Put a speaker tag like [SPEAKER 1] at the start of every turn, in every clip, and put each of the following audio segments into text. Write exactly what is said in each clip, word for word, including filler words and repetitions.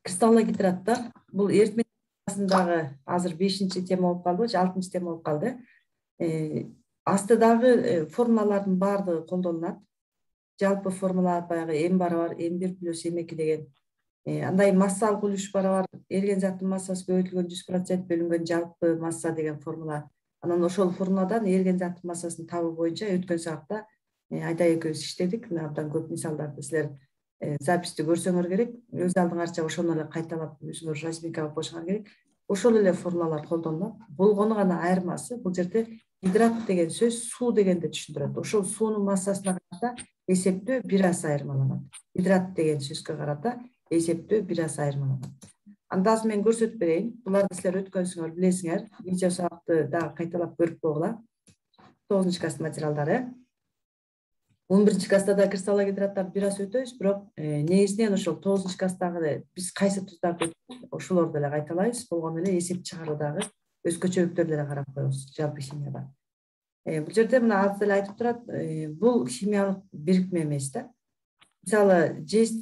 [SPEAKER 1] Кристаллогидратта бул эритмедагы азыр бешинчи тема болуп калды, же алтынчы тема болуп калды. Астыдагы формулалардын баардыгы колдонулат. Жалпы формула баягы м барабар м бир плюс м эки деген андай массалык үлүш барабар эрген заттын массасы көбөйтүлгөн жүз процент бөлүнгөн жалпы масса деген формула. Анан ошол формуладан эрген заттын массасын табуу боюнча өткөн сабакта Айдай экөөбүз иштедик. Абдан көп мисалдарды силер записти көрсөңөр керек. Өз алдыңарча ошону эле кайталап өзүңөр разминка кылып коюшуңар керек. Ошол эле формулалар колдонулат. Болгону гана айырмасы бул жерде гидрат деген сөз суу дегенди түшүндүрөт. Ошол суунун массасына карата эсептөө бир аз айырмаланат. Гидрат деген сөзгө карата эсептөө бир аз айырмаланат. Анда азыр мен көрсөтүп берейин. Буларды силер өткөнсүңөр билесиңер. Видео сабакты дагы кайталап көрүп койгула. тогузунчу класс материалдары. он биринчи класста да кристаллогидраттарды бир аз өтөбүз, бирок негизинен ошол тогузунчу класстагы биз кайсы туздарды өттүк, ошолорду эле кайталайбыз. Болгону эле эсеп чыгаруудагы өзгөчөлүктөрдү эле карап коебуз жалпы химияда. Бул жерде мына азыр эле айтып турат, бул химиялык бирикме эмес да. Мисалы, жез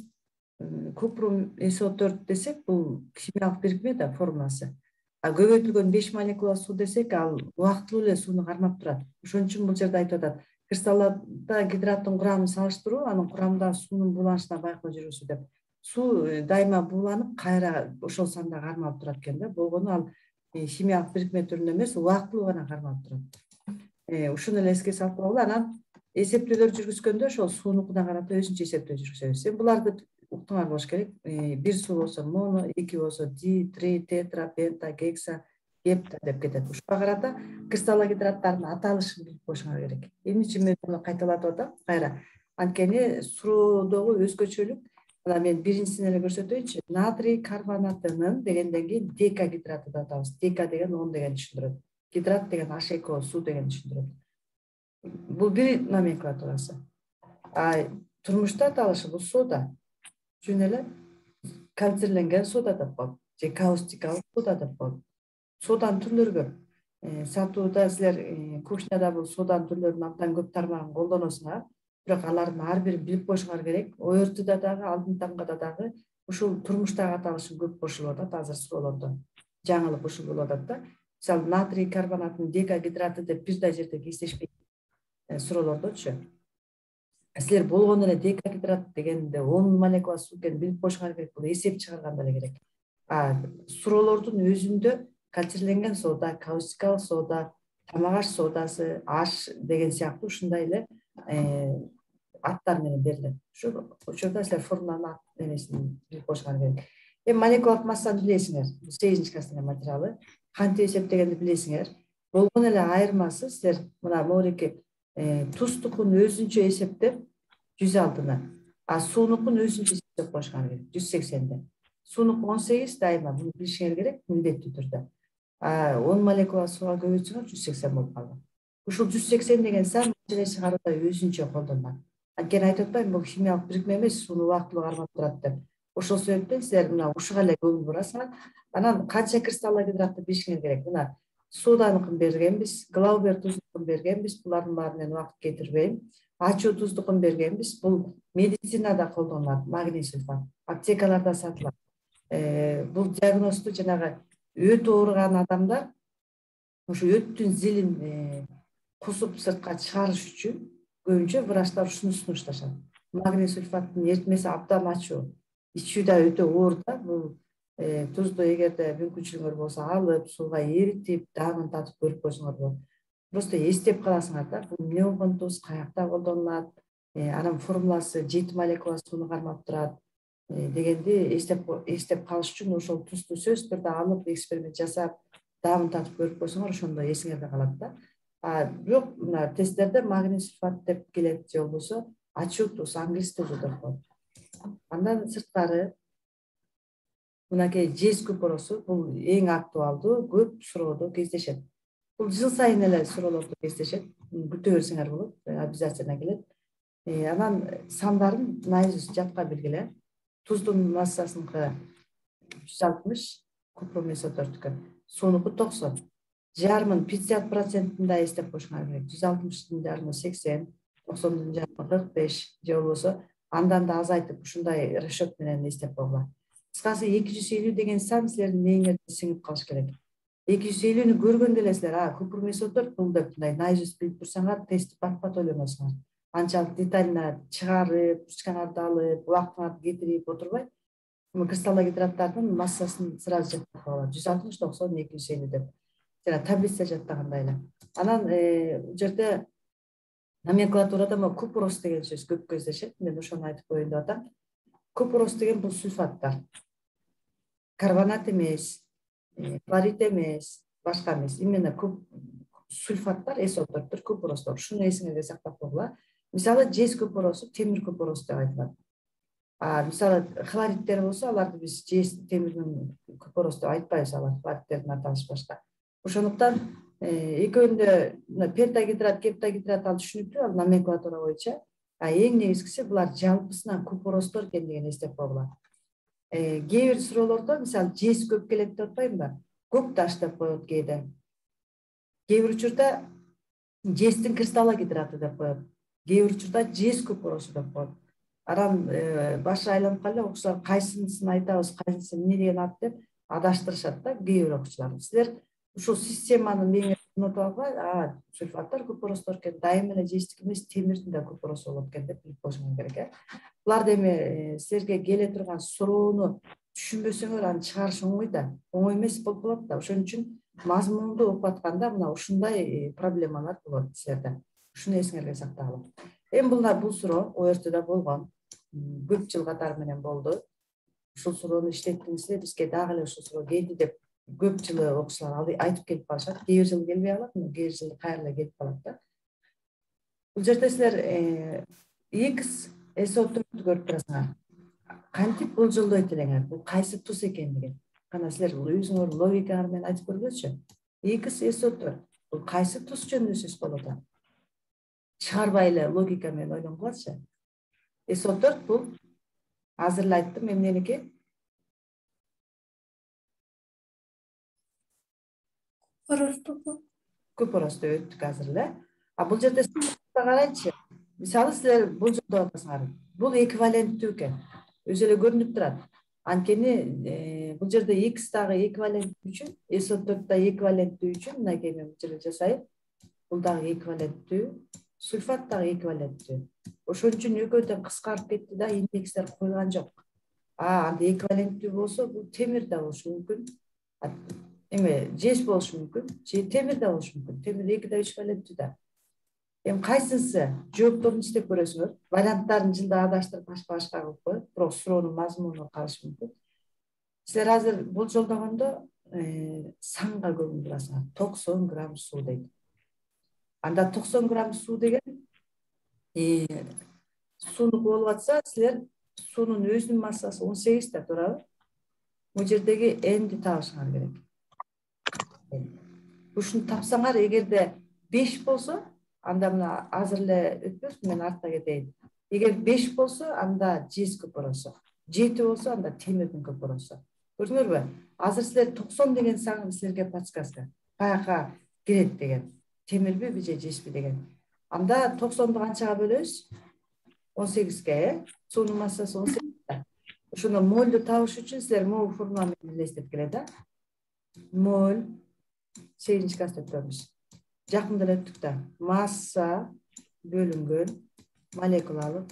[SPEAKER 1] купрум эс о төрт десек, бул химиялык бирикме да, формуласы. А көбөйтүлгөн беш молекула суу десек, ал убактылуу эле сууну кармап турат. Ошон үчүн бул жерде айтып атат. Кристаллда гидраттын курамын салыштыруу, анын курамындагы суунун бууланышына байкоо жүргүзүү деп. Суу дайыма бууланып, кайра ошол санда кармалып турат экен да. Болгону ал химиялык бирикме түрүндө эмес, убактылуу гана кармалып турат. Ушуну эле эске салып койгула. Анан эсептөөлөр жүргүзгөндө ошол суунукуна карата өзүнчө эсептөө жүргүзөбүз. Эми буларды уктуңар болуш керек. Бир суу болсо моно, эки болсо di, три, тетра, пента, гекса, гепта деп кетет. Ушуга карата кристаллогидраттардын аталышын билип коюшуңар керек. Эмне үчүн мен муну кайталатып атам? Кайра. Анткени суроодогу өзгөчөлүк, мына мен биринчисин эле көрсөтөйүнчү. Натрий карбонатынын дегенден кийин декагидраты деп атабыз. Дека деген он деген түшүндүрөт. Гидрат деген аш эки о суу деген түшүндүрөт. Бул бир номенклатурасы. А турмушта аталышы бул сода. Жөн эле консервленген сода деп коет. Же каустикалык сода деп коет. Соданын түрлөрү көп. Сатууда силер кухняда бул соданын түрлөрүнүн абдан көп тармагын колдоносуңар. Бирок алардын ар бирин билип коюшуңар керек. Оёртууда дагы, алдын таңгада дагы ушул турмуштагы аталышын көп кошулуп атат азыр суроолордо. Жаңылык ушул болуп атат да. Мисалы, натрий карбонатынын декагидраты деп бир да жерде кездешпейт суроолордочу. Силер болгону эле декагидрат дегенде он молекула суу экенин билип коюшуңар керек. Бул эсеп чыгарганда эле керек. А суроолордун өзүндө консервленген сода, каустикалык сода, тамак аш содасы, аш деген сыяктуу ушундай эле аттар менен берилет. Ошо ошондо силер формуланын эмесин билип коюшуңар керек. Эми молекулалык массаны билесиңер. сегизинчи класстын материалы. Кантип эсептегенди билесиңер. Болгону эле айырмасы силер мына могуреки туздукун өзүнчө эсептеп жүз алтыны, а суунукун өзүнчө эсептеп коюшуңар керек жүз сексенди. Суунук он сегиз дайыма буну билишиңер керек милдеттүү түрдө. А он молекула сууга көбөйтсөңөр жүз сексен болуп калат. Ушул жүз сексен деген сан маселе чыгарууда өзүнчө колдонулат. Анткени айтып атпаймынбы, бул химиялык бирикме эмес, сууну убактылуу кармап турат деп. Ошол себептен силер мына ушуга эле көңүл бурасыңар. Анан канча кристаллогидратты билишиңер керек. Мына соданыкын бергенбиз, Глаубер туздукун бергенбиз. Булардын баарын мен убакыт кетирбейм. Ачуу туздукун бергенбиз. Бул медицинада колдонулат, магний сульфат. Аптекаларда сатылат. Бул диагносту жанагы өт ооруган адамдар ушу өттүн зилин кусуп сыртка чыгарыш үчүн көбүнчө врачтар ушуну сунушташат. Магний сульфаттын эритмеси абдан ачуу. Ичүү да өтө оор да. Бул тузду эгерде мүмкүнчүлүгүңөр болсо алып, сууга эритип, даамын татып көрүп койсоңор болот. Просто эстеп каласыңар да, бул эмне болгон туз, каякта колдонулат, анын формуласы жети молекула сууну кармап турат дегенди эстеп эстеп калыш үчүн ошол тузду сөзсүз түрдө алып, эксперимент жасап, даамын татып көрүп койсоңор ошондо эсиңерде калат да. А бирок мына тесттерде магний сульфат деп келет, же болбосо ачуу туз, англис тузу деп коет. Андан сырткары мынакей жез купоросу бул эң актуалдуу, көп суроодо кездешет. Бул жыл сайын эле суроолордо кездешет. Күтө берсеңер болот, обязательно келет. Анан сандарын наизусть жатка билгиле. Туздун массасыныкы жүз алтымыш, купрум эс о төрткө, суунуку токсон. Жарымын пятьдесят процентинде эстеп коюшуңар керек. жүз алтымыштын жарымы сексен, токсондун жарымы кырк беш, же болбосо андан да азайтып ушундай расчет менен эстеп койгула. кыскасы эки жүз элүү деген сан силердин мээңерде сиңип калыш керек. эки жүз элүүнү көргөндө эле силер а көпүрө месоттор бул деп мындай наизусть билип турсаңар тестти бат бат ойлоносуңар. Анчалык детально чыгарып, ручкаңарды алып, убактыңарды кетирип отурбай, кристаллогидраттардын массасын сразу жаттап алат. жүз алтымыш, токсон, эки жүз элүү деп. Жана таблица жаттагандай эле. Анан бул жерде номенклатурада могу купорос деген сөз көп кездешет. Мен ошону айтып коеюн деп атам. Купорос деген бул сульфаттар. Карбонат эмес, хлорид эмес, башка эмес. Именно сульфаттар, эсоттордур, купоростор. Шуну эсиңерде сактап койгула. Мисалы, жез купоросу темир купорос деп айтылат. А мисалы, хлоридтер болсо, аларды биз жез темирдин купорос деп айтпайбыз, алар хлоридтердин аталышы башка. Ошондуктан экөөнүндө пентагидрат, гептагидрат ал түшүнүктүү, ал номенклатура боюнча. А эң негизгиси булар жалпысынан купоростор экендигин эстеп койгула. Кээ бир суроолордо мисалы жез көп келет деп атпаймынбы? Көк таш деп коет кээде. Кээ бир учурда жездин кристаллогидраты деп коет. Кээ бир учурда жез купоросу деп коет. Анан башы айланып калып окуучулар кайсынысын айтабыз, кайсысы эмне деген ат деп адаштырышат да кээ бир окуучулар. Силер ушул системаны меңе унутуп албай, а сульфаттар купоростор экен, дайыма эле жездик эмес, темирдин да купоросу болот экен деп билип коюшуңар керек э. Булар эми силерге келе турган суроону түшүнбөсөңөр аны чыгарыш оңой да, оңой эмес болуп калат да. Ошон үчүн мазмунду окуп атканда мына ушундай проблемалар болот силерде. Ушуну эсиңерге сактагыла. Эми бул бул суроо о эр-тда болгон. Көп жыл катары менен болду. Ушул суроону иштеттиңиздер, бизге дагы эле ушул суроо келди деп көп жылы окуучулар айтып келип калышат. Кээ бир жылы келбей калат, кээ бир жылы кайра келип калат да. Бул жерде силер X эсотторду көрүп турасыңар. Кантип болжолдойт элеңер? Бул кайсы туз экендигин. Кана силер өзүңөр логикаңар менен айтып көргүлөчү. X эсоттор бул кайсы туз жөнүндө сөз болуп атат? Чыгарбай эле логика менен ойлонгулачы. Эсоттор бул азыр эле айттым эмненики? Купоросту өттүк азыр эле. А бул жерде карайчы. Мисалы силер бул жолдо атасыңар. Бул эквиваленттүү экен. Өзү эле көрүнүп турат. Анткени бул жерде X дагы эквиваленттүү үчүн, эсоттор да эквиваленттүү үчүн мынакей мен бул жерде жасайм. Бул дагы эквиваленттүү, сульфат дагы эквиваленттүү. Ошон үчүн экөөдөн кыскарып кетти да, индекстер койгон жок. А анда эквиваленттүү болсо бул темир да болушу мүмкүн. Эме жез болушу мүмкүн, же темир да болушу мүмкүн. Темир эки да үч валенттүү да. Эми кайсысы жоопторун иштеп көрөсүңөр. Варианттарын жылда адаштырып башка-башка кылып коет, бирок суроонун мазмуну калышы мүмкүн. Силер азыр бул жолдогондо санга көңүл бурасыңар. токсон грамм суу дейт. Анда токсон грамм суу деген суунуку болуп атса, силер суунун өзүнүн массасы он сегиз да, туурабы? Бул жердеги N'ди табышыңар керек. Ушуну тапсаңар, эгерде беш болсо, анда мына азыр эле өтпөс, мен артка кетейин. Эгер беш болсо, анда жез купоросу. жети болсо, анда темирдин купоросу. Көрдүңөрбү? Азыр силер токсон деген сан силерге подсказка. Баягы кирет деген. Темирби же жезби деген. Анда токсонду канчага бөлөбүз? он сегизге, э? Суунун массасы он сегиз да. Ошондо молду табыш үчүн силер могу формула менен элестеп келе да. Моль сегизинчи класста өткөнбүз. Жакында эле өттүк да. Масса бөлүнгөн молекулалык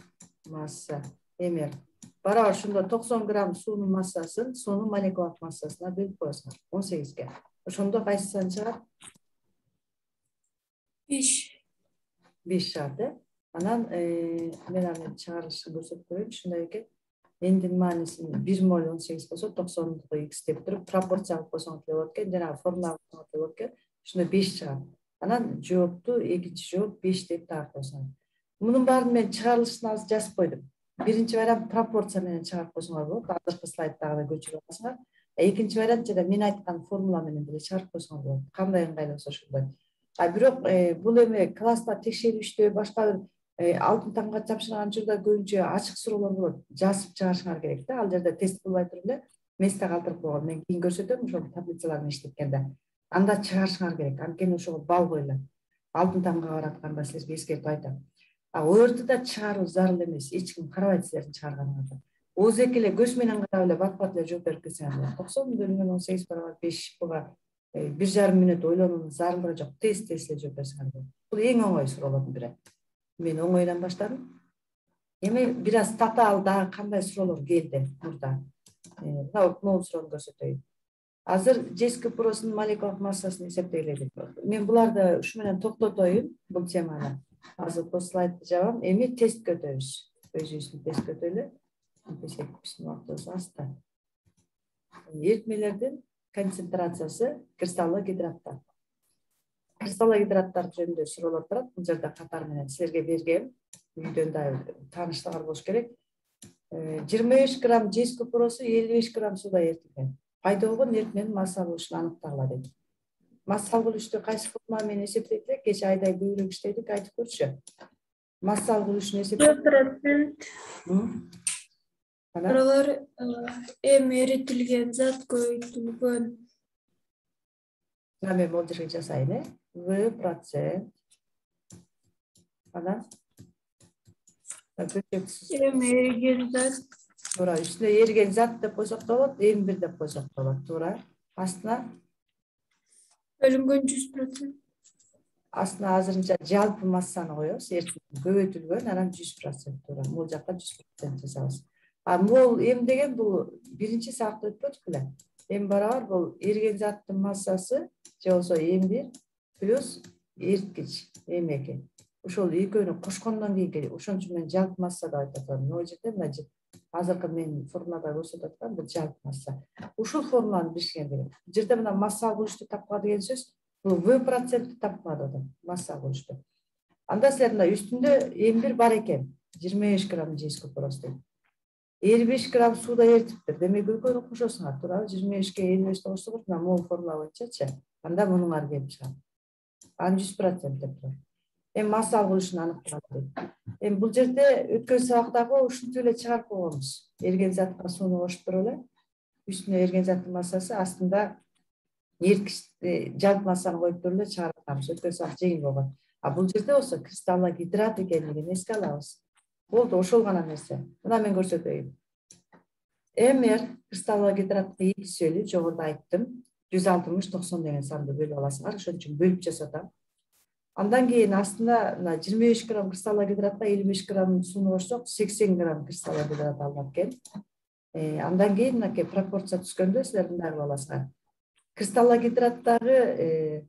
[SPEAKER 1] масса эмер. Барабар ошондо токсон грамм суунун массасын суунун молекулалык массасына бөлүп коесуңар. он сегизге. Ошондо кайсы сан чыгат? беш. беш чыгат, э? Анан мен аны чыгарылышын көрсөтүп коеюн. Ушундай экен. Эндин маанисин бир моль он сегиз болсо токсондуку X деп туруп пропорция кылып койсоңуз болот экен. Жанагы формула кылсоңуз болот экен. Ушундо беш чыгат. Анан жоопту экинчи жооп беш деп таап койсоңуз. Мунун баарын мен чыгарылышын азыр жазып койдум. Биринчи вариант пропорция менен чыгарып койсоңор болот. Азыркы слайдтагы көчүрүп аласыңар. Экинчи вариант жана мен айткан формула менен деле чыгарып койсоңор болот. Кандай ыңгайлуу болсо ошондой. А бирок бул эме класста текшерүүчтө башка бир алтын тамга тапшырган учурда көбүнчө ачык суроолор болот. Жазып чыгарышыңар керек да. Ал жерде тест кылбай туруп эле месте калтырып койгон. Мен кийин көрсөтөм ошол таблицалар менен иштеткенде. Анда чыгарышыңар керек. Анткени ошого балл коюлат. Алтын тамга баратканда силерге эскертип айтам. А о эр-тда чыгаруу зарыл эмес. Эч ким карабайт силердин чыгарганыңарды. ооздеки эле көз менен карап эле бат бат эле жооп берип кетсеңер токсон бөлүнгөн он сегиз барабар беш буга бир жарым мүнөт ойлонуунун зарылдыгы жок, тез тез эле жооп берсеңер болот. Бул эң оңой суроолордун бири. Мен оңойдон баштадым. Эми бир аз татаал дагы кандай суроолор келди мурда. Мына могул суроону көрсөтөйүн. Азыр жеск просунун молекулалык массасын эсептейлик. Мен буларды ушу менен токтотоюн, бул теманы. Азыр бул слайдты жабам. Эми тестке өтөбүз. Өзүбүздүн тестке өтөлү. Биздин убактыбыз азда. Эритмелердин концентрациясы кристаллогидраттар. Кристаллогидраттар жөнүндө суроолор турат. Бул жерде катар менен силерге бергем. Үйдөн да тааныштыгар болуш керек. жыйырма беш грамм жеск купуросу элүү беш грамм суда эритилген. Пайда болгон эритменин масса алгычын аныктагыла дейт. Масса алгычты кайсы формула менен эсептейт элек? Кечээ айдай көбүрөөк иштедик, айтып көрчү. Масса алгычын эсептеп
[SPEAKER 2] процент. Алар эми эритилген зат көбөйтүлгөн.
[SPEAKER 1] Мен бул жерге жасайын, э? В процент. Анан
[SPEAKER 2] эми эриген зат.
[SPEAKER 1] Туура, үстүнө эриген зат деп койсок да болот, эми бир деп койсок да болот. Туура. Астына
[SPEAKER 2] бөлүнгөн жүз процент.
[SPEAKER 1] Астына азырынча жалпы массаны коебуз, эритилген көбөйтүлгөн, анан жүз процент. Туура, бул жакка жүз процент жасабыз. А мол эм деген бул биринчи сабакта өтпөдүк беле? Эм барабар бул эриген заттын массасы же болбосо эм бир плюс эриткич эм эки. Ошол экөөнү кошкондон кийинки ошон үчүн мен жалпы масса деп айтып атам. Могу жерде мына азыркы мен формулада көрсөтүп аткан бул жалпы масса. Ушул формуланы билишкен керек. Бул жерде мына масса алгычты тапкыла деген сөз бул В процентти тапкыла деп атам. Масса алгычты. Анда силер мына үстүндө эм бир бар экен. жыйырма беш грамм жеск купурос дейт. элүү беш грамм суда эритиптир. Демек экөөнү кошосуңар, туурабы? жыйырма бешке элүү бешти кошсоңор, мына могул формула боюнчачы. Анда мунуңар келип чыгат. Анан жүз процент деп турат. Эми масса алгычын аныктаган дейт. Эми бул жерде өткөн сабактагы ушинтип эле чыгарып койгонбуз. Эрген затка сууну кошуп туруп эле үстүнө эрген заттын массасы, астында эрткич жалпы массаны коюп туруп эле чыгарып атабыз. Өткөн сабак жеңил болгон. А бул жерде болсо кристаллогидрат экенлигин эске алабыз. Болду, ошол гана нерсе. Мына мен көрсөтөйүн. Мр кристаллогидраттын эки сөлү жогоруда айттым. жүз алтымыш токсон деген санды бөлүп аласыңар. Ошон үчүн бөлүп жасатам. Андан кийин астында мына жыйырма беш грамм кристаллогидратка элүү беш грамм сууну кошсок, сексен грамм кристаллогидрат алынат экен. Андан кийин мынакей пропорция түскөндө силер мындай кылып аласыңар. Кристаллогидраттагы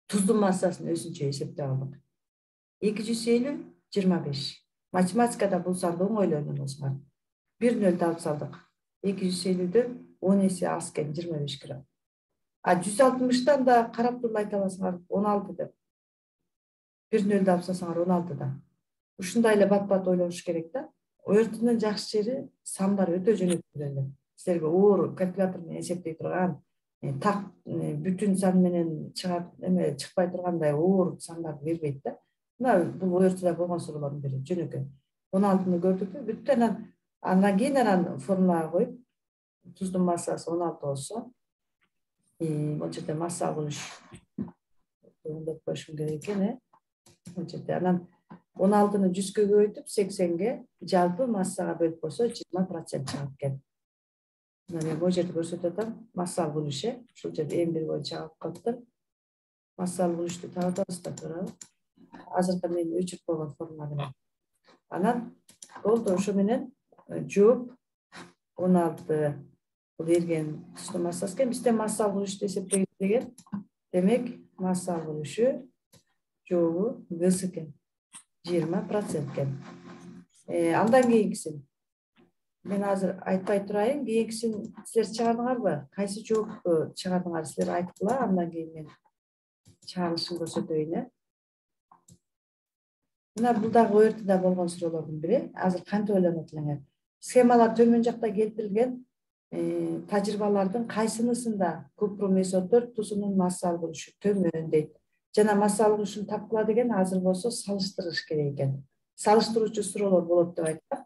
[SPEAKER 1] туздун массасын өзүнчө эсептеп алдык. эки жүз элүү жыйырма беш. Математикада бул санды оңой эле ойлоносуңар. бир нөл алып салдык. эки жүз элүүдөн он эсе аз экен, жыйырма беш грамм. А жүз алтымыштан да карап туруп айта аласыңар он алты деп. бир нөлдү алып салсаңар он алты да. Ушундай эле бат-бат ойлонуш керек да. Оертунун жакшы жери сандар өтө жөнөкөй эле. Силерге оор калькулятор менен эсептей турган, так бүтүн сан менен чыгат, эме чыкпай тургандай оор сандарды бербейт да. Мына бул оертуда болгон суроолордун бири жөнөкөй. он алтыны көрдүкпү? Бүттү. Анан андан кийин анан формулага коюп, туздун массасы он алты болсо, бул жерде масса алгыч деп коюшум керек экен, э? Бул жерде анан он алтыны жүзгө көбөйтүп, сексенге жалпы массага бөлүп койсо жыйырма процент чыгат экен. Мына мен бул жерде көрсөтүп атам, масса алгыч, э? Ушул жерде эм бир боюнча алып калыптыр. Масса алгычты табабыз да, туурабы? Азыркы мен өчүрүп койгон формула менен. Анан болду, ошо менен жооп он алты бул эрген туздун массасы экен. Бизде масса алгычты эсептеген деген, демек масса алгычы жообу гс экен. жыйырма процент экен. Андан кийинкисин мен азыр айтпай турайын, кийинкисин силер чыгардыңарбы? Кайсы жоопту чыгардыңар? Силер айткыла, андан кийин мен чыгарылышын көрсөтөйүн, э? Мына бул дагы оертуда болгон суроолордун бири. Азыр кантип ойлонот элеңер? Схемалар төмөн жакта келтирилген тажрыйбалардын кайсынысында купру-месотор тузунун масса алгычы төмөн дейт. Жана масса алгычын тапкыла деген азыр болсо салыштырыш керек экен. Салыштыруучу суроолор болот деп айткам.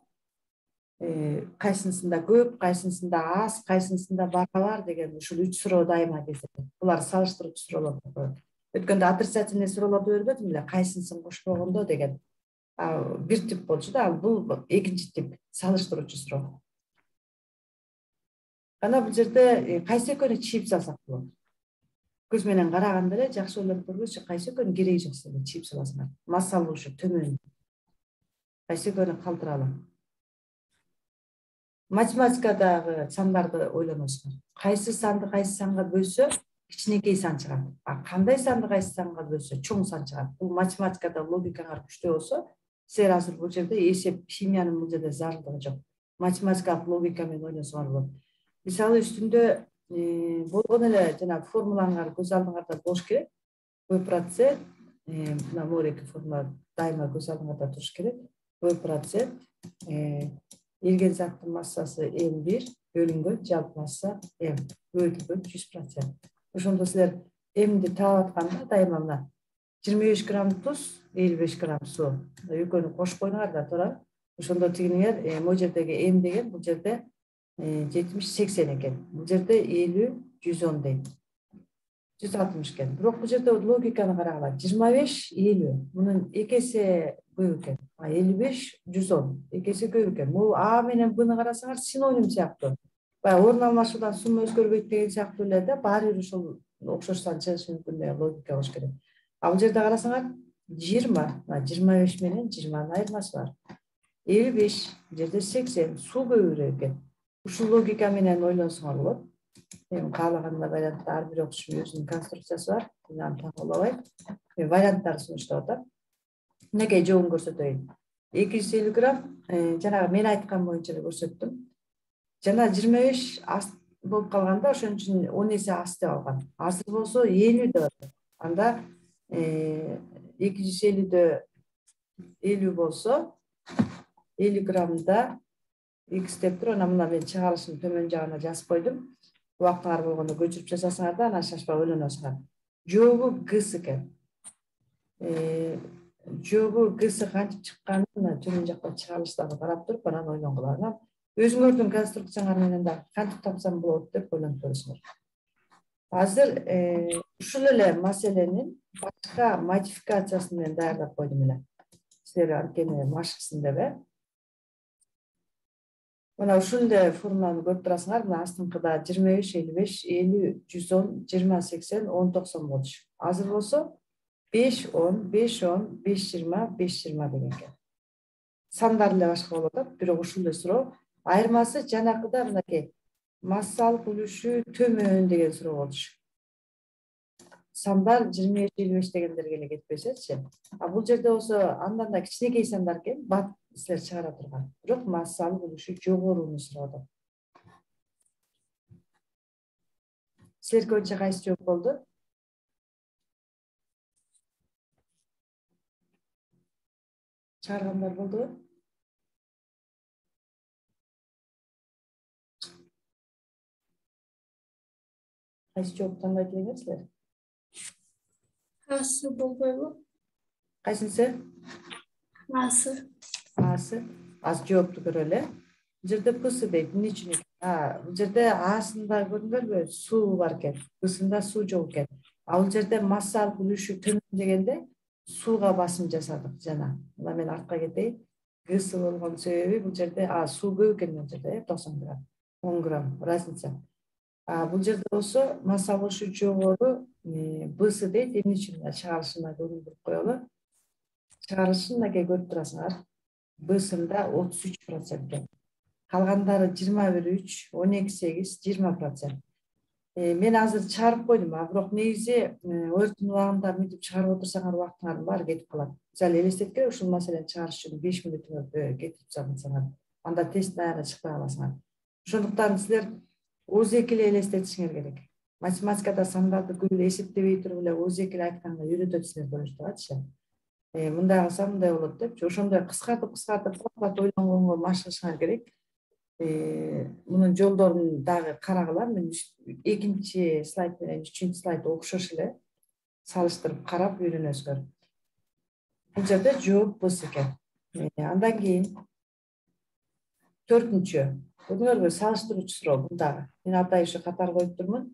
[SPEAKER 1] Кайсынысында көп, кайсынысында аз, кайсынысында барабар деген ушул үч суроо дайыма кездешет. Булар салыштыруучу суроолор деп коет. Өткөндө отрицательный суроолорду бербедим эле, кайсынысын кошпогондо деген. бир тип болчу да, ал бул экинчи тип салыштыруучу суроо. Анан бул жерде кайсы экөөнү чип салсак болот? Көз менен караганда эле жакшы ойлонуп көргүлөчү, кайсы экөөнү кереги жок силерге чип саласыңар. Массалуу ушу төмөн. Кайсы экөөнү калтыралы. Математикадагы сандарды ойлоносуңар. Кайсы санды кайсы санга бөлсө кичинекей сан чыгат. А кандай санды кайсы санга бөлсө чоң сан чыгат. Бул математикада логикаңар күчтүү болсо, силер азыр бул жерде эсеп, химиянын бул жерде зарылдыгы жок. Математикалык логика менен ойлонсоңар болот. Мисалы үстүндө болгон эле жана формулаңар көз алдыңарда болуш керек. В процент, мына мореки формула дайыма көз алдыңарда туруш керек. В процент эрген заттын массасы эм бир бөлүнгөн жалпы масса м бөлүнгөн жүз процент. Ошондо силер эмди таап атканда дайыма мына жыйырма беш грамм туз, элүү беш грамм суу. Экөөнү кошуп койдуңар да, туура. Ошондо тигиңер могу жердеги эм деген бул жерде жетимиш сексен экен. Бул жерде элүү жүз он дейт. жүз алтымыш экен. Бирок бул жерде логиканы карагыла. жыйырма беш элүү. Мунун эки эсе көп экен. А элүү беш жүз он. эки эсе көп экен. Бул А менен Бны карасаңар синоним сыяктуу. Баягы орун алмашуудан сумма өзгөрбөйт деген сыяктуу эле да, баары бир ушул окшош сан чыгышы мүмкүн деген логика болуш керек. А бул жерде карасаңар жыйырма, жыйырма беш менен жыйырманын айырмасы бар. элүү беш, бул жерде сексен, суу көбүрөөк экен. Ушул логика менен ойлонсоңор болот. Мен каалаганда вариантта ар бир окуучунун өзүнүн конструкциясы бар. Мен аны таңуулабайм. Мен варианттарды сунуштап атам. Мынакей жолун көрсөтөйүн. эки жүз элүү грамм, жанагы мен айткан боюнча эле көрсөттүм. Жана жыйырма беш аст болуп калганда ошон үчүн он эсе аст деп алган. Азыр болсо элүү деп атат. Анда эки жүз элүүдө элүү болсо элүү граммда x деп туруп, анан мына мен чыгарылышын төмөн жагына жазып койдум. Убактыңар болгондо көчүрүп жасасыңар да, анан шашпай ойлоносуңар. Жообу гс экен. Жообу гс кантип чыкканын мына төмөн жакта чыгарылыштарды карап туруп анан ойлонгула. Анан өзүңөрдүн конструкцияңар менен да кантип тапсам болот деп ойлонуп көрүңүздөр. Азыр ушул эле маселенин башка модификациясын мен даярдап койдум эле. Силер анткени машыксын деп, э? Мына ушул эле формуланы көрүп турасыңар. Мына астыңкыда жыйырма беш, элүү беш, элүү, жүз он, жыйырма, сексен, он, токсон болчу. Азыр болсо беш, он, беш, он, беш, жыйырма, беш, жыйырма деген экен. Сандар эле башка болуп атат, бирок ушул эле суроо. Айырмасы жанакыда мынакей массалык үлүшү төмөн деген суроо болчу. Сандар жыйырма беш, элүү беш дегендерге эле кетпесечи. А бул жерде болсо андан да кичинекей сандар экен, бат силер чыгара турган. Бирок массалык үлүшү жогорууну сурап атат. Силерге боюнча кайсы жооп болду? Чыгаргандар болдубу? Кайсы жооп тандайт элеңер силер?
[SPEAKER 2] Асы болбойбу?
[SPEAKER 1] Кайсынысы?
[SPEAKER 2] Асы.
[SPEAKER 1] Асы. Аз жоопту көрөлү. Бул жерде псы дейт. Эмне үчүн экен? А, бул жерде асында көрдүңөрбү? Суу бар экен. Псында суу жок экен. А бул жерде массалык үлүшү төмөн дегенде сууга басым жасадык жана. Мына мен артка кетейин. Гсы болгон себеби бул жерде а суу көп экен бул жерде, токсон грамм, он грамм разница. А бул жерде болсо массалык үлүшү жогору бсы дейт. Эмне үчүн чыгарылышына көрүндүрүп коелу. Чыгарылышын мынакей көрүп турасыңар. Бсында отуз үч процент экен. Калгандары жыйырма бир, үч, он эки, сегиз, жыйырма процент. Мен азыр чыгарып койдум, а бирок негизи өрттүн убагында мынтип чыгарып отурсаңар убактыңардын баары кетип калат. Мисалы элестеткиле, ушул маселени чыгарыш үчүн беш мүнөтүңөрдү кетирип чыгарсаңар, анда тест аягына чыкпай каласыңар. Ошондуктан силер озеки эле элестетишиңер керек. Математикада сандарды көп эле эсептебей туруп эле озеки эле айтканга үйрөтөт силерди деп атышат. Мындай кылсам мындай болот депчи. Ошондой кыскартып кыскартып кат ойлонгонго машыгышыңар керек. Мунун жолдорун дагы карагыла. Мен экинчи слайд менен үчүнчү слайд окшош эле салыштырып карап үйрөнөсүңөр. Бул жерде жооп бс экен. Андан кийин төртүнчү. Көрдүңөрбү? Салыштыруучу суроо бул дагы. Мен атай ушу катар коюп турмун.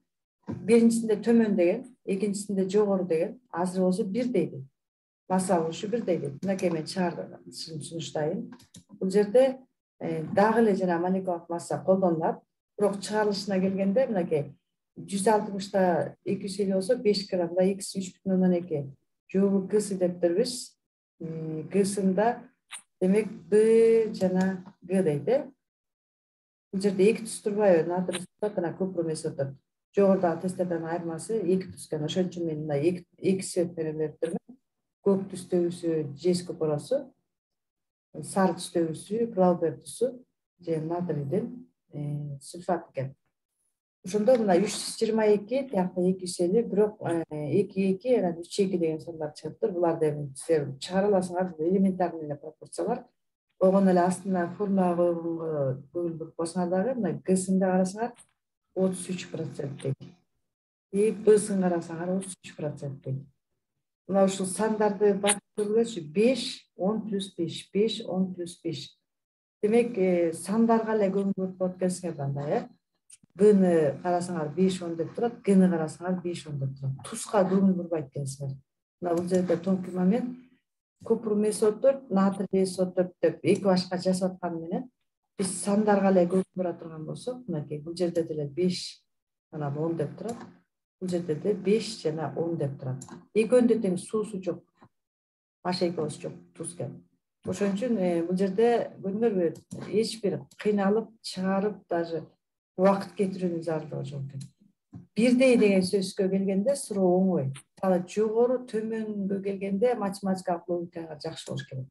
[SPEAKER 1] Биринчисинде төмөн деген, экинчисинде жогору деген. Азыр болсо бир дейди. масса болушу бирдей дейт. Мынакей мен чыгардым, сунуштайын. Бул жерде дагы эле жана молекулалык масса колдонулат. Бирок чыгарылышына келгенде мынакей жүз алтымышта эки жүз элүү болсо беш граммда икс үч бүтүн ондон эки. Жобу гсы дептербиз. Гсында демек Б жана Г дейт, э? Бул жерде эки туз турбайбы? Натрий сулфат жана купрум месотот. Жогорудагы тесттерден айырмасы эки туз экен. Ошон үчүн мен мына эки свет менен берип турмун. Көк түстөгүсү жез купоросу, сары түстөгүсү Глаубер тусу же натрийдин сульфат экен. Ошондо мына үч жүз жыйырма эки, тиякта эки жүз элүү, бирок эки эки, анан үч эки деген сондар чыгыптыр. Буларды эми силер чыгара аласыңар, элементарный эле пропорциялар. Огон эле астына формулага койгонго көңүл буруп койсоңар дагы, мына Гсин карасаңар отуз үч проценттей. И Бсын карасаңар отуз үч проценттей. Мына ушул сандарды бакып көргүлөчү. беш, он плюс беш, беш, он плюс беш. Демек, сандарга эле көңүл буруп коет экенсиңер мындай, э? Бны карасаңар беш, он деп турат, Гны карасаңар беш, он деп турат. Туска көңүл бурбайт экенсиңер. Мына бул жерде тонкий момент. Купрум месотот, натрий месотот деп эки башка жасап аткан менен биз сандарга эле көңүл бура турган болсок, мынакей бул жерде деле беш, анан он деп турат. Бул жерде деле беш жана он деп турат. Экөөнүндө тең суусу жок. H эки O жок, туз экен. Ошон үчүн бул жерде көрдүңөрбү, эч бир кыйналып, чыгарып, даже убакыт кетирүүнүн зарылыгы жок экен. Бирдей деген сөзгө келгенде суроо оңой. Мисалы жогору төмөнгө келгенде математикалык логикага жакшы болуш керек.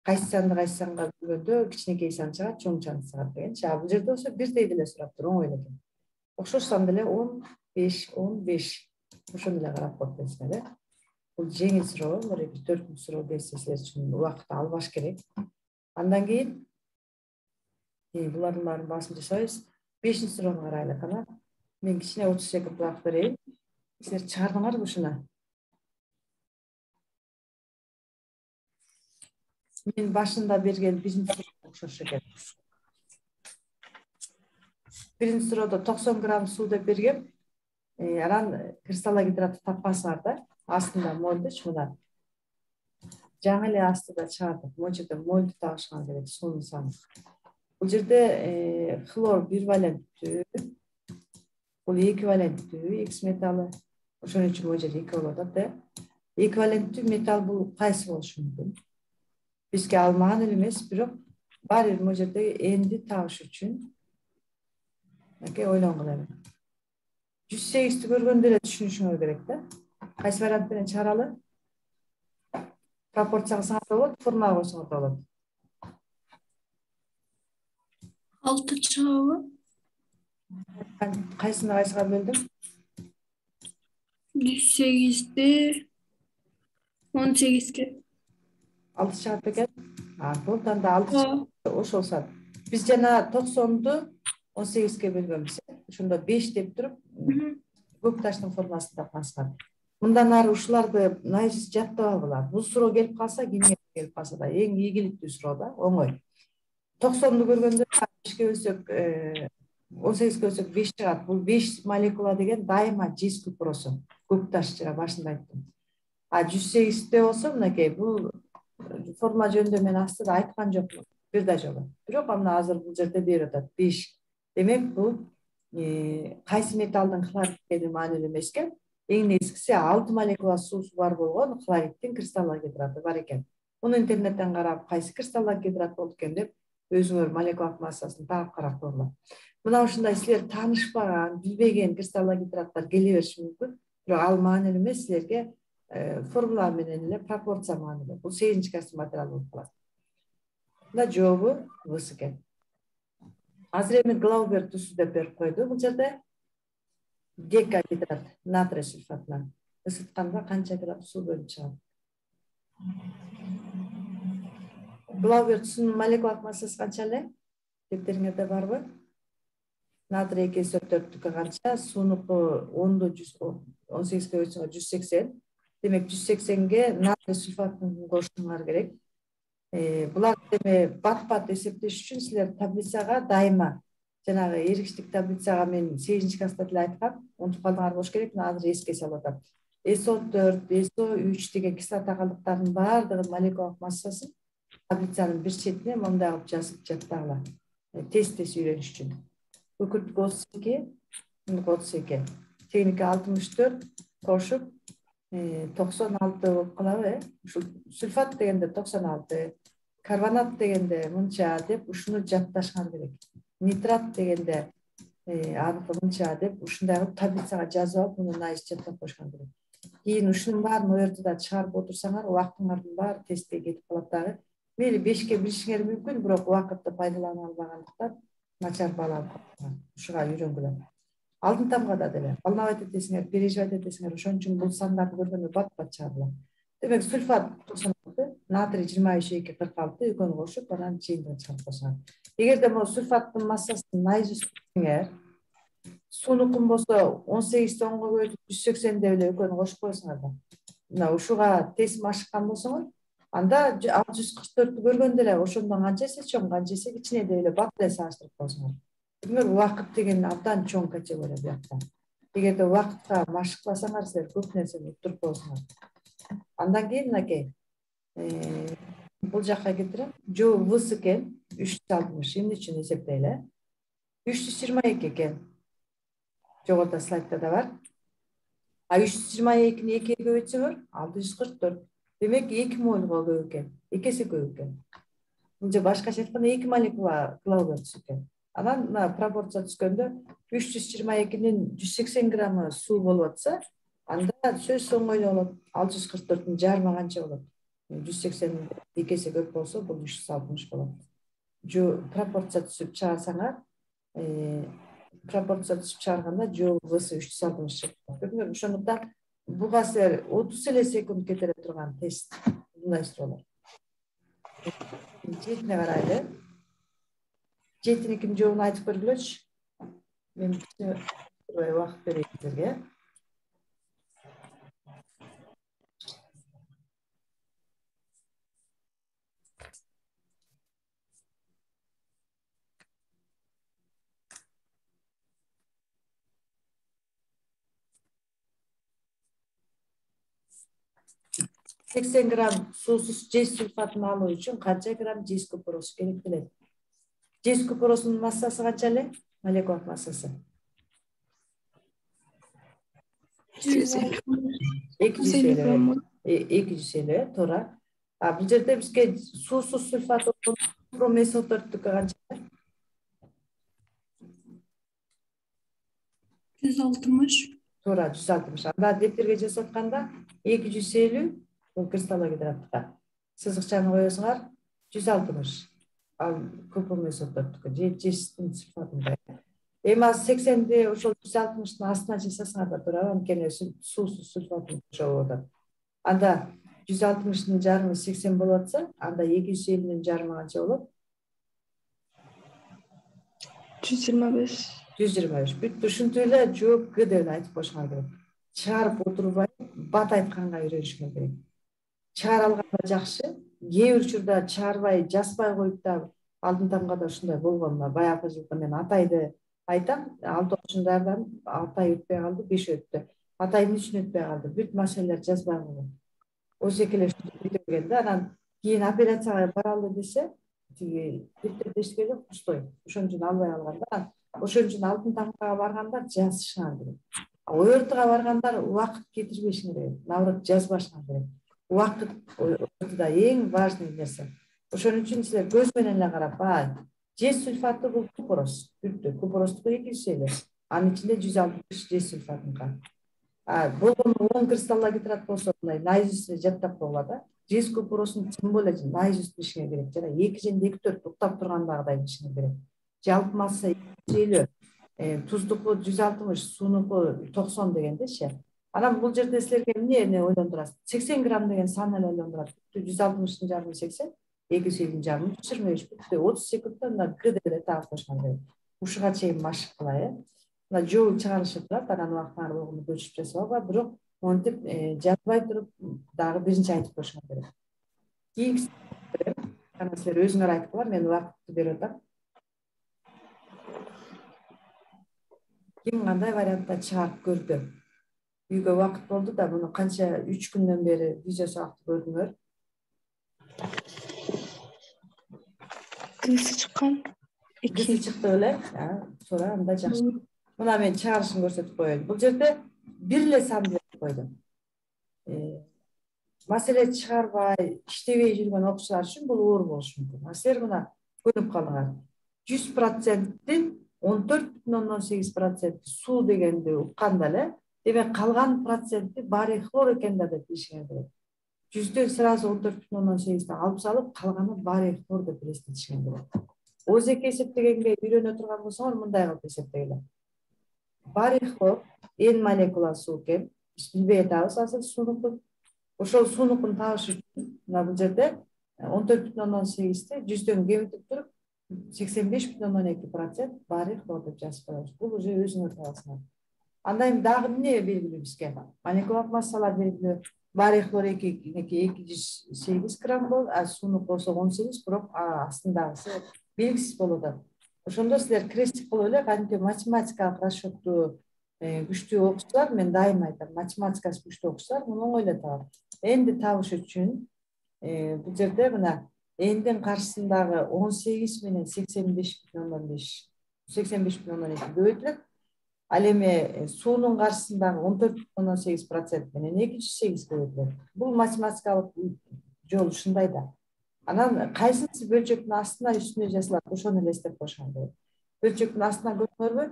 [SPEAKER 1] Кайсы санды кайсы санга бөлгөндө кичинекей сан чыгат, чоң сан чыгат дегенчи. А бул жерде болсо бирдей деле сураптыр, оңой эле экен. Окшош сан деле он беш, он беш. Ошону эле карап коет экенсиңер, э? Бул жеңил суроо, бир төрт суроо келсе силер үчүн убакыт албаш керек. Андан кийин булардын баарын басым жасайбыз. бешинчи суроону карайлы кана. Мен кичине отуз секунд убакыт берейин. Силер чыгардыңарбы ушуну? Мен башында берген биринчи суроо окшош экен. Биринчи суроодо токсон грамм суу деп бергем. Анан кристаллогидратты таппасыңар да, астында мольдуч мына. Жаңы эле астында чыгардык. Могу жерде мольду табышыңар керек, суунун саны. Бул жерде хлор бир валенттүү, бул эквиваленттүү X металы. Ошон үчүн могу жерде эки болуп атат, э? Эквиваленттүү металл бул кайсы болушу мүмкүн? Бизге ал маанилүү эмес, бирок бар бир могу жерде энди табыш үчүн мынакей ойлонгула эми. жүз сегизди көргөндө эле түшүнүшүңөр керек да. Кайсы вариант менен чыгаралы? Пропорцияга саңар да болот, формага койсоңор да болот.
[SPEAKER 2] алты чыгабы?
[SPEAKER 1] Кайсына кайсыга бөлдүм?
[SPEAKER 2] жүз сегизди он сегизге.
[SPEAKER 1] алты чыгат экен. А, болду анда алты ошол сан. Биз жана токсонду он сегизге бөлгөнбүз. Ошондо беш деп туруп, көк таштын формасын тапкансыңар. Мындан ары ушуларды наизусть жаттап алгыла. Бул суроо келип калса, кимге келип калса да эң ийгиликтүү суроо да, оңой. токсонду көргөндө бешке бөлсөк, он сегизге бөлсөк беш чыгат. Бул беш молекула деген дайыма жез купоросу. Көк таш жана башында айттым. А жүз сегизде болсо мынакей бул формула жөнүндө мен астыда айткан жокмун бир да жолу. Бирок анда азыр бул жерде берип атат беш. Демек бул кайсы металдын хлорид экени маанилүү эмес экен. Эң негизгиси алты молекула суусу бар болгон хлориддин кристаллогидраты бар экен. Муну интернеттен карап, кайсы кристаллогидрат болду экен деп өзүңөр молекулалык массасын таап карап койгула. Мына ушундай силер таанышпаган, билбеген кристаллогидраттар келе бериши мүмкүн. Бирок ал маанилүү эмес, силерге формула менен эле пропорция маанилүү. Бул сегизинчи класстын материалы болуп калат. Мына жообу Бс экен. Азыр эми Глаубер тусу деп берип койду. Бул жерде декагидрат натрий сульфатынан ысытканда канча грамм суу бөлүнүп чыгат? Глаубер тусунун молекулалык массасы канча эле? Дептериңерде барбы? Натрий эки эс төрттүккө канча, суунуку онду он сегизге бөлсөңөр жүз сексен. Демек жүз сексенге натрий сульфатын кошуңар керек. Булар эми бат-бат эсептеш үчүн силер таблицага дайыма жанагы эргичтик таблицага мен сегизинчи класста деле айткам, унутуп калдыңар болуш керек, азыр эске салып атам. эс о төрт, эс о үч деген кислота калдыктарынын баардыгынын молекулалык массасын таблицанын бир четине мындай кылып жазып жаттагыла. Тест тест үйрөнүш үчүн. Күкүрттүк отуз эки, мундук отуз эки, тегиники алтымыш төрт кошуп токсон алты болуп калабы, э? Ушул сульфат дегенде токсон алты, карбонат дегенде мынча деп ушуну жатташыңар керек. Нитрат дегенде аныкы мынча деп ушундай кылып таблицага жазып алып, муну найз жаттап коюшуңар керек. Кийин ушунун баарын ортодо чыгарып отурсаңар, убактыңардын баары тестке кетип калат дагы. Мейли бешке билишиңер мүмкүн, бирок убакытты пайдалана албагандыктан начар бала алып ушуга үйрөнгүлө. Алтын тамгада деле волновать этесиңер, переживать этесиңер, ошон үчүн бул сандарды көргөндө бат бат чыгарыла. Демек сульфат токсон алты, натрий жыйырма үч, эки кырк алты экөөнү кошуп анан жыйынтыгын чыгарып койсоңор. Эгерде могу сульфаттын массасын найз түзсөңөр, суунукун болсо он сегизди онго бөлүп жүз сексен деп эле экөөнү кошуп койсоңор да. Мына ушуга тесим ашыккан болсоңор, анда ал жүз кырк төрттү көргөндө эле ошондон канча эсе чоң, канча эсе кичине деп эле бат эле салыштырып койсоңор. Демек убакыт деген абдан чоң категория буякта. Эгерде убакытка машыкласаңар, силер көп нерсени уктуруп болосуңар. Андан кийин мынакей бул жакка кетирем. Жоо выс экен үч жүз алтымыш, эмне үчүн эсептейли? үч жүз жыйырма эки экен. Жогоруда слайдда да бар. А үч жүз жыйырма экини экиге көбөйтсөңөр алты жүз кырк төрт. Демек эки молго көп экен. эки эсе көп экен. Мынча башкача айтканда эки молекула килограмм түсөт экен. Анан мына пропорция түшкөндө үч жүз жыйырма экинин жүз сексен граммы суу болуп атса, анда сөзсүз оңой болот. алты жүз кырк төрттүн жарымы канча болот? жүз сексен эки эсе көп болсо, бул үч жүз алтымыш болот. Жо пропорция түзүп чыгарсаңар, пропорция түзүп чыгарганда жоо высы үч жүз алтымыш чыгып кетет. Ошондуктан буга силер отуз эле секунд кетире турган тест мындай суроолор. Жетине карайлы. Жетиникинин жообун айтып көргүлөчү. Мен убакыт берейин силерге. сексен грамм суусуз жез сульфатын алуу үчүн канча грамм жез купуросу керектелет? Жез купуросунун массасы канча эле? Молекулалык массасы эки жүз элүү. эки жүз элүү, туура. А бул жерде бизге суусуз сульфат эс о төрттүкү канча?
[SPEAKER 2] жүз алтымыш.
[SPEAKER 1] Туура, жүз алтымыш. Анда деттерге жасап атканда эки жүз элүү бул кристаллогидратка. Сызыкчаны коесуңар жүз алтымыш. Ал купрум эс о төрттүкү же жездин сульфатында. Эми азыр сексенди ошол жүз алтымыштын астына жасасаңар да туурабы, анткени суусуз сульфатын кошуп атат. Анда жүз алтымыштын жарымы сексен болуп атса, анда эки жүз элүүнүн жарымы канча болот?
[SPEAKER 2] жүз жыйырма беш.
[SPEAKER 1] жүз жыйырма беш. Бүт ушинтип эле жооп Г деп айтып коюшуңар керек. Чыгарып отурбай, бат айтканга үйрөнүшүңөр керек. Чыгара алганда жакшы. Кээ бир учурда чыгарбай, жазбай коюп да алтын тамгада ушундай болгон. Баягы жылкы мен Атайды айтам, алты жашындардан Атай өтпөй калды, беш өттү. Атай эмне үчүн өтпөй калды? Бүт маселелер жазбай койгон. Ошол эле ушинтип да, анан кийин операцияга баралы десе, тиги биртеп эчкеле кустой. Ошон үчүн албай калганда, ошон үчүн алтын тамгага баргандар жазышыңар керек. Ортого баргандар убакыт кетирбешиңер керек. Наоборот, жазбашыңар керек. Убакыт ортодо эң важный нерсе. Ошон үчүн силер көз менен эле карап, баа, жез сульфаты бул купурос. Бүттү. Купуростуку эки жүз элүү. Анын ичинде жүз алтымыш жез сульфатынка. А болгону он кристаллогидрат болсо, мындай найз жаттап койгула да. Жез купуросун тим более найз билишиңер керек. Жана эки жөнүндө эки төрт уктап тургандагыдай билишиңер керек. Жалпы масса эки жүз элүү. Туздуку жүз алтымыш, суунуку токсон дегендечи. Анан бул жерде силерге эмне ойлондурасыз? сексен грамм деген сан эле ойлондурат. жүз алтымыштын жарымы сексен, эки жүз элүүнүн жарымы жүз жыйырма беш. Бүттү. отуз секундда мына Г деп эле таап коюшуңар керек. Ушуга чейин машык кылай, э. Мына жол чыгарышып турат, анан убактыңар болгону көчүп жасап алба, бирок монтип жазбай туруп дагы биринчи айтып коюшуңар керек. Кийинкиси анан силер өзүңөр айткыла, мен убакытты берип атам. Ким кандай вариантта чыгарып көрдү? үйгө убакыт болду да муну канча үч күндөн бери видео сабакты көрдүңөр?
[SPEAKER 2] Кысы чыккан.
[SPEAKER 1] Кысы чыкты беле? Туура, анда жакшы. Мына мен чыгарышын көрсөтүп коеюн. Бул жерде бир эле санды берип койдум. Маселе чыгарбай, иштебей жүргөн окуучулар үчүн бул оор болушу мүмкүн. А силер мына көрүп калдыңар. жүз проценттин он төрт бүтүн ондон сегиз проценти суу дегенди укканда эле, демек калган проценти барий хлор экен да деп билишиңер керек. жүздөн сразу он төрт бүтүн ондон сегизден алып салып, калганы барий хлор деп элестетишиңер керек. ОЗЕК эсептегенге үйрөнө турган болсоңор мындай кылып эсептегиле. Барий хлор эн молекула суу экен. Биз билбей атабыз азыр суунукун. Ошол суунукун табыш үчүн мына бул жерде он төрт бүтүн ондон сегизди жүздөн кемитип туруп сексен беш бүтүн ондон эки процент барий хлор деп жазып коебуз. Бул уже өзүңөр табасыңар. Андан кийин дагы эмне белгилүү бизге? Молекулалык массалар белгилүү. Барий хлор эки жүз сегиз грамм болот, а суунук болсо он сегиз, бирок астындагысы белгисиз болуп атат. Ошондо силер крестик кылып эле кантип математикалык расчетту күчтүү окусаңар, мен дайыма айтам, математикасы күчтүү окусаңар, муну оңой эле табат. Энди табыш үчүн бул жерде мына эндин каршысындагы он сегиз менен сексен беш бүтүн ондон беш, сексен беш бүтүн ондон эки көбөйтүлөт. Ал эми суунун каршысындагы он төрт бүтүн ондон сегиз процент менен эки жүз сегиз көбөйтүлөт. Бул математикалык жол ушундай да. Анан кайсынысы бөлчөктүн астына үстүнө жазылат, ошону элестеп коюшуңар керек. Бөлчөктүн астына көрдүңөрбү?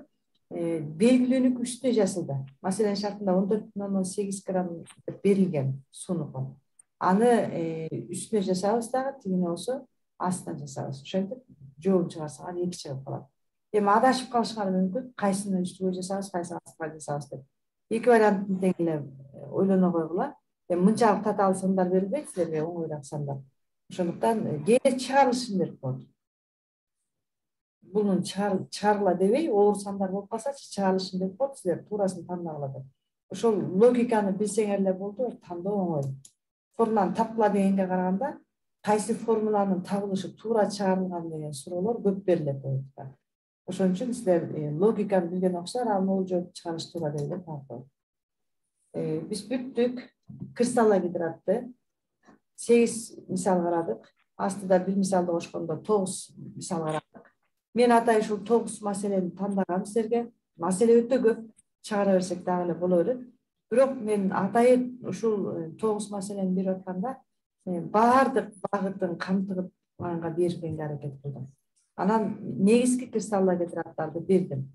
[SPEAKER 1] Белгилүүнүкү үстүнө жазылды. Маселенин шартында он төрт бүтүн ондон сегиз грамм деп берилген суунукун. Аны үстүнө жасабыз дагы, тигине болсо астына жасабыз. Ошентип жообун чыгарсаңар эки чыгып калат. Эми адашып калышыңар мүмкүн, кайсыны үстүгө жасабыз, кайсыны астына жасабыз деп. Эки варианттын тең эле ойлоно койгула. Эми мынчалык татаал сандар берилбейт силерге, оңойраак сандар. Ошондуктан кээде чыгарылышын берип коет. Бунун чыгарыла дебей, оор сандар болуп калсачы, чыгарылышын берип коет, силер туурасын тандагыла деп. Ошол логиканы билсеңер эле болду, тандоо оңой. Формуланы тапкыла дегенге караганда, кайсы формуланын табылышы туура чыгарылган деген суроолор көп берилет ойдука. Ошон үчүн силер логиканы билген окшоңор, ал могул жооп чыгарыш туура деп эле таап. Биз бүттүк. Кристаллогидратты сегиз мисал карадык. Астыда бир мисалды кошкондо тогуз мисал карадык. Мен атай ушул тогуз маселени тандагам силерге. Маселе өтө көп, чыгара берсек дагы эле боло берет. Бирок мен атайын ушул тогуз маселени берип атканда баардык багытын камтыганга берүүгө аракет кылдым. Анан негизги кристаллогидраттарды бердим.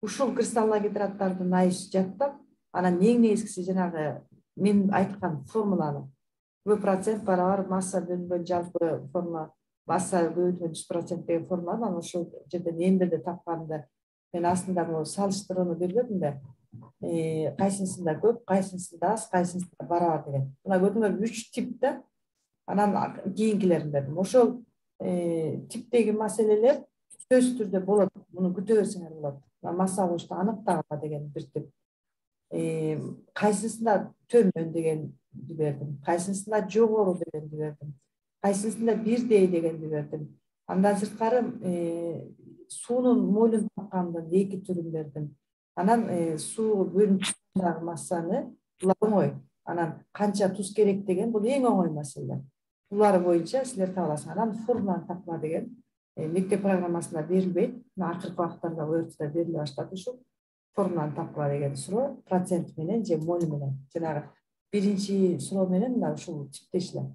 [SPEAKER 1] Ушул кристаллогидраттардын айыс жаттап, анан эң негизгиси жанагы мен айткан формуланы В процент барабар масса бөлүнгөн жалпы формула, масса көбөйтүлгөн жүз процент деген формуланы анан ошол жерден эң бирде тапканымда мен астында бул салыштырууну бербедим да. Кайсынысында көп, кайсынысында аз, кайсынысында барабар деген. Мына көрдүңөрбү, үч тип да. Анан кийинкилерин бердим. Ошол типтеги маселелер сөзсүз түрдө болот. Муну күтө берсеңер болот. Масса алышты аныктагыла деген бир тип. Кайсысында төмөн дегенди бердим. Кайсысында жогору дегенди бердим. Кайсысында бирдей дегенди бердим. Андан сырткары суунун молун тапкандын эки түрүн бердим. Анан суу бөлүнүшүндөгү массаны оңой. Анан канча туз керек деген бул эң оңой маселе. Булар боюнча силер таба аласыңар. Анан формуланы тапкыла деген мектеп программасында берилбейт. Акыркы убактарда ОРТда бериле баштады ушул. Формуланы тапкыла деген суроо процент менен же моль менен. Жанагы биринчи суроо менен мына ушул типтеш эле.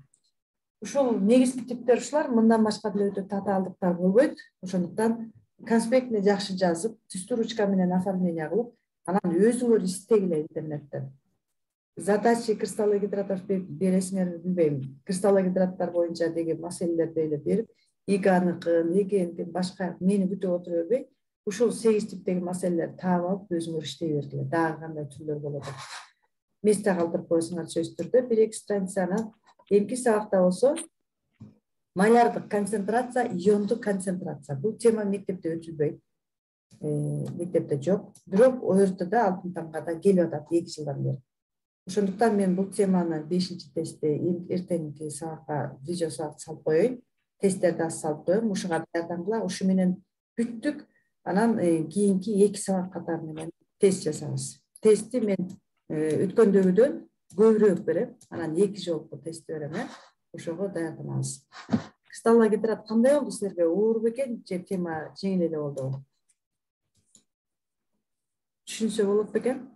[SPEAKER 1] Ушул негизги типтер ушулар, мындан башка деле өтө татаалдыктар болбойт. Ошондуктан конспектни жакшы жазып, түстүү ручка менен оформление кылып, анан өзүңөр издегиле интернеттен. Задачи кристаллогидратов бересиңер билбейм. Кристаллогидраттар боюнча деген маселелерди эле берип, иганыкын, эгенкин, башка мени күтүп отура бербей, ушул сегиз типтеги маселелерди таап алып, өзүңөр иштей бергиле. Дагы кандай түрлөр болот. Месте калтырып койсоңор сөзсүз түрдө бир эки страницаны. Эмки сабакта болсо малярдык концентрация, иондук концентрация. Бул тема мектепте өтүлбөйт. Мектепте жок. Бирок ОРТда алтын тамга да келип атат эки жылдан бери. Ошондуктан мен бул теманы бешинчи тестте эртеңки сабакка видео сабак салып коеюн. Тесттерди аз салып коем. Ушуга даярдангыла. Ушу менен бүттүк. Анан кийинки эки сабак катары менен тест жасабыз. Тестти мен өткөндөгүдөн көбүрөөк берем. Анан эки жолку тест берем, э. Ошого даярданабыз. Кристалла Гидрат кандай болду силерге? Оор бекен же тема жеңил эле болдубу? Түшүнсө болот бекен?